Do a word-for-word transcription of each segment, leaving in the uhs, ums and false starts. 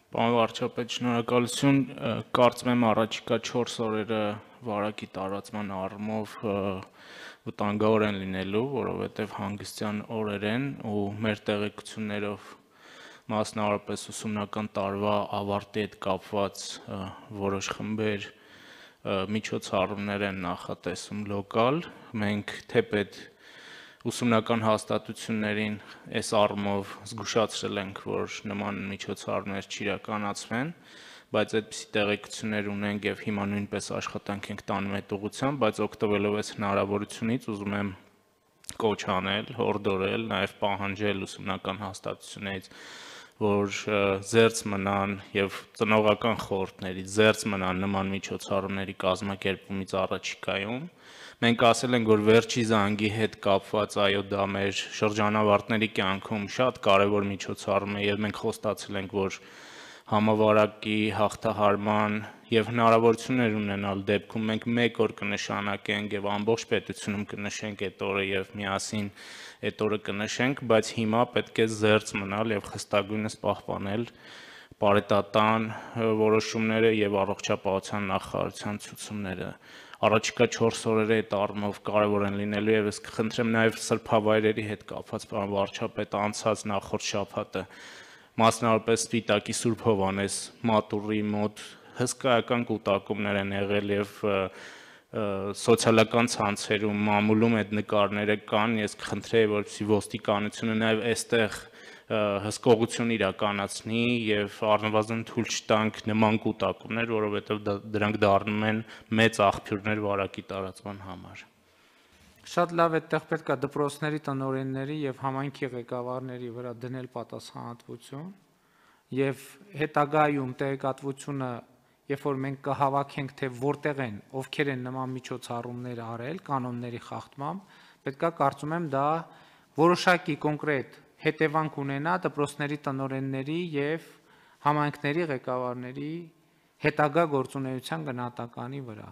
Պարոն վարչապետ, շնորհակալություն, կարծում եմ առաջիկա չորս օրերը վարակի տարածման առումով վտանգավոր են լինելու, որովհետև հանգստյան օրեր են ու մեր տեղեկություններով մասնավորապես ուսումնական տարվա ավարտի հետ կապված որոշ խմբեր միջոցառումներ են նախատեսում լոկալ, մենք թեպետ ուսումնական հաստատություններին այս առումով զգուշացրել ենք, որ նման միջոցառումներ չիրականացվեն, բայց այդպիսի տեղեկություններ ունենք եւ հիմա նույնպես աշխատանք ենք տանում այդ ուղղությամբ, բայց օգտվելով այս հնարավորությունից ուզում եմ կոչ անել, հորդորել, նաեւ պահանջել ուսումնական հաստատություններից, որ զերծ մնան եւ ծնողական խորհուրդներից զերծ մնան նման միջոցառումների կազմակերպումից առաջիկայում։ Մենք ասել ենք, որ վերջի զանգի հետ կապված, այո, դա մեր շրջանավարտների կյանքում շատ կարևոր միջոցառում է եւ մենք խոստացել ենք, որ համավարակի հաղթահարման եւ հնարավորություններ ունենալ դեպքում մենք մեկ օր կնշանակենք եւ ամբողջ պետությունում կնշենք այդ օրը եւ միասին այդ օրը կնշենք, բայց հիմա պետք է զերծ մնալ եւ խստագույնս պահպանել պարետատան որոշումները եւ առողջապահության նախարարության ցուցումները։ Առաջիկա չորս օրերը այդ առումով կարևոր են լինելու եւ ես կխնդրեմ նաեւ սրբավայրերի հետ կապված, պարոն վարչապետ, անցած նախորդ շաբաթը մասնավորապես Սպիտակի Սուրբ Հովհաննես մատուռի մոտ հսկայական կուտակումներ են եղել եւ սոցիալական ցանցերում մամուլում այդ նկարները կան, ես կխնդրեի, որպեսզի ոստիկանությունը նաեւ այստեղ հսկողություն իրականացնի եւ առնվազն թույլ չտանք նման կուտակումներ, որովհետեւ դրանք դառնում են մեծ աղբյուրներ վարակի տարածման համար։ Շատ լավ, այդտեղ պետք է դպրոցների տնօրենների եւ համայնքի ղեկավարների վրա դնել պատասխանատվություն եւ հետագայում տեղեկատվությունը, երբ որ մենք կհավաքենք, թե որտեղ են, ովքեր են նման միջոցառումներ արել կանոնների խախտմամբ, պետքա կարծում եմ դա որոշակի կոնկրետ հետևանք ունենա դպրոցների տնօրենների եւ համայնքների ղեկավարների հետագա գործունեության գնահատականի վրա։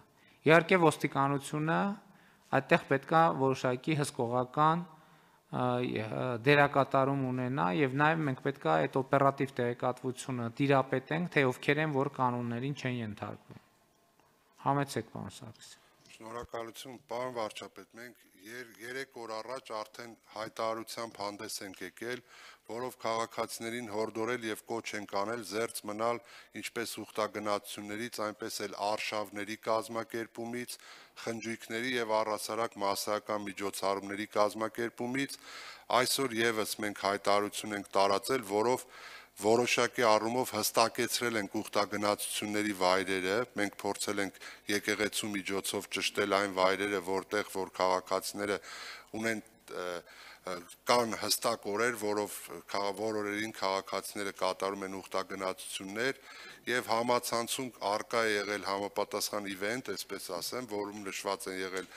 Իհարկե ոստիկանությունը այդտեղ պետքա որոշակի հսկողական դերակատարում ունենա եւ նաեւ մենք պետքա այդ օպերատիվ տեղեկատվությունը տիրապետենք, թե ովքեր են, որ կանոններին չեն ենթարկվում։ Համեցեք, պարոն Սարգսյան։ Շնորհակալություն, պարոն վարչապետ, մենք երեք օր առաջ արդեն հայտարարությամբ հանդես ենք եկել, որով քաղաքացիներին հորդորել եւ կոչ ենք անել զերծ մնալ ինչպես ուխտագնացություններից, այնպես էլ արշավների կազմակերպումից, խնջույքների եւ առհասարակ մասսայական միջոցառումների կազմակերպումից։ Այսօր եւս մենք հայտարարություն ենք տարածել, որով որոշակի առումով հստակեցրել ենք ուխտագնացությունների վայրերը, մենք փորձել ենք եկեղեցու միջոցով ճշտել այն վայրերը, որտեղ որ քաղաքացիները ունեն կան հստակ օրեր, որով որ օրերին քաղաքացիները կատարում են ուխտագնացություններ եւ համացանցում արկա է եղել համապատասխան իվենտ, այսպես ասեմ, որում նշված են եղել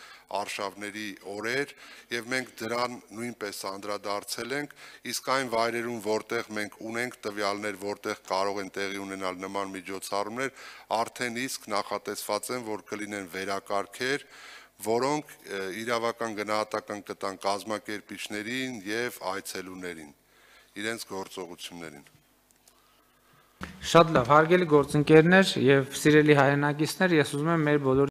արշավների օրեր եւ մենք դրան նույնպես անդրադարձել ենք, իսկ այն վայրերում, որտեղ մենք ունենք տվյալներ, որտեղ կարող են տեղի ունենալ նման միջոցառումներ, արդեն իսկ նախատեսված են, որ կլինեն վերակարգեր, որոնք իրավական գնահատական կտան կազմակերպիչներին եւ այցելուներին իրենց գործողություններին։ Շատ լավ, հարգելի գործընկերներ եւ սիրելի հայրենակիցներ, ես ուզում եմ մեր բոլոր